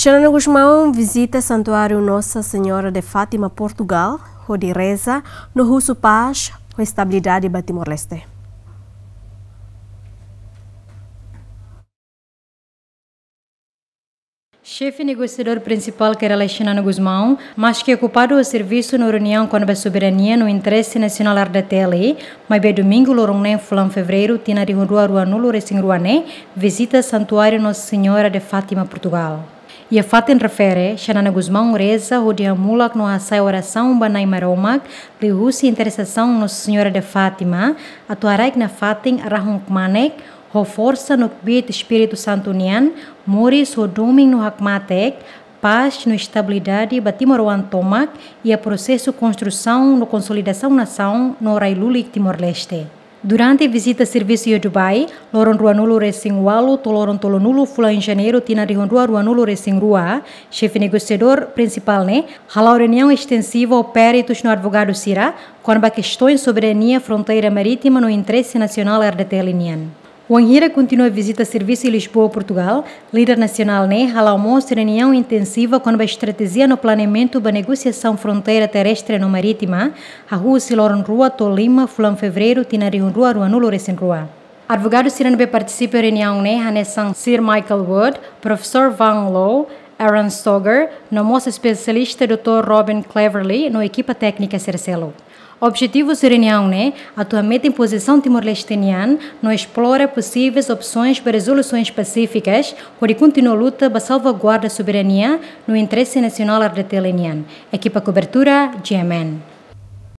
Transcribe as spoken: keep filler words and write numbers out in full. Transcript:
Xanana Gusmão vizita Santuáriu Nossa Senhora de Fátima, Portugal, hodi reza no husu pás ho estabilidade ba Timor-Leste. Xefe negosiadór prinsipál Kay Rala Xanana Gusmão, maski okupadu ho servisu no reuniaun kona-ba soberania no interese nasionál R D T L, maibé domingu loron neen fulan Fevereiru tinan rihun rua ruanulu resin rua ne'e, vizita Santuáriu Nossa Senhora de Fátima, Portugal. Iha fatin refere, Xanana Gusmão reza hodi hamulak no hasa'e orasaun ba Na'i Maromak, liuhusi intersesaun Nossa Senhora de Fátima, atu haraik nafatin rahun kmanek, ho forsa no kbiit Espíritu Santu nian, moris ho domin no hakmatek, pás no estabilidade ba timoroan tomak, iha prosesu konstrusaun no konsolidasaun nasaun no rai lulik Timor-Leste. Durante vizita servisu iha Dubai, loron ruanulu resin ualu to'o loron tolunulu fulan Janeiru tinan rihun rua ruanulu resin rua, xefe negosiadór prinsipál ne'e hala'o reuniaun estensiva ho peritus no advogadu sira, kona-ba kestoin soberania, fronteira marítima no interese nasionál R D T L nian. Wainhira kontinua vizita servisu iha Lisboa, Portugal, líder nasionál ne'e hala'o mós reuniaun intensiva kona-ba estratéjia no planeamentu ba negosiasaun fronteira terrestre no marítima, hahú husi loron rua to'o lima fulan Fevereiru tinan rihun rua ruanulu resin rua. Advogadu sira ne'ebé partisipa reuniaun ne'e hanesan Sir Michael Wood, Profesór Wang Lo, Aaron Stoger, no mós espesialista doutór Robin Cleverly no ekipa téknika sira seluk. Objetivu husi reuniaun ne'e atu hametin pozisaun Timor-Leste nian no esplora posivelmente opsoens ba rezolusoens pasífikas, hodi kontinua luta ba salvaguarda soberania no interese nasionál R D T L nian. Ekipa kobertura, G M N.